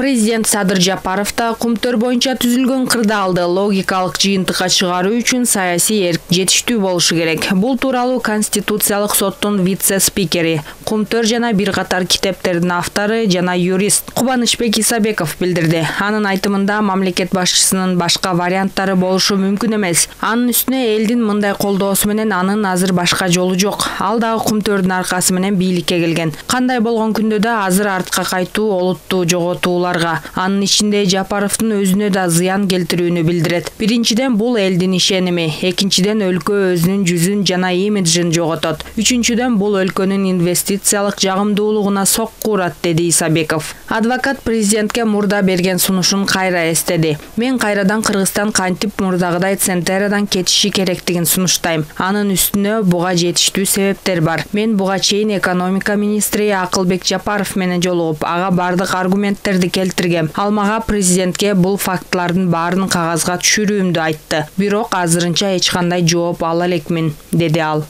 Президент Садыр Жапаров да Кумтөр боюнча түзүлгөн кырдаалды логикалык жыйынтыкка чыгаруу үчүн саясий эрк жетиштүү болушу керек. Бул тууралуу Конституциялык соттун вице-спикери, Кумтөр жана бир катар китептердин автору жана юрист Кубанычбек Исабеков билдирди. Анын айтымында мамлекет башчысынын башка варианттары болушу мүмкүн эмес. Анын үстүнө элдин мындай колдоосу менен анын азыр башка жолу жок. Ал дагы Кумтөрдүн аркасы менен бийликке келген. Кандай болгон күндө да азыр артка кайтуу олутту жоготууларга, анын ичинде Жапаровдун өзүнө да зыян келтирүүнү билдирет. Биринчиден бул элдин ишеними, экинчиден өлкө өзүнүн жүзүн жана имиджин жоготот. Үчүнчүдөн бул өлкөнүн инвестициялык жагымдуулугуна сокку урат, деди Исабеков. Адвокат президентке мурда берген сунушун кайра эстеди. Мен кайрадан Кыргызстан кантип мурдагыдай Центерадан кетиши керектигин сунуштайм. Анын үстүнө буга жетиштүү себептер бар. Мен буга чейин экономика министри Акылбек Жапаров менен жолугуп, ага бардык аргументтерди келтиргем. Ал мага президентке бул фактылардын баарын кагазга түшүрүүмдү айтты. Бирок азырынча эч кандай жооп ала элекмин, деди ал.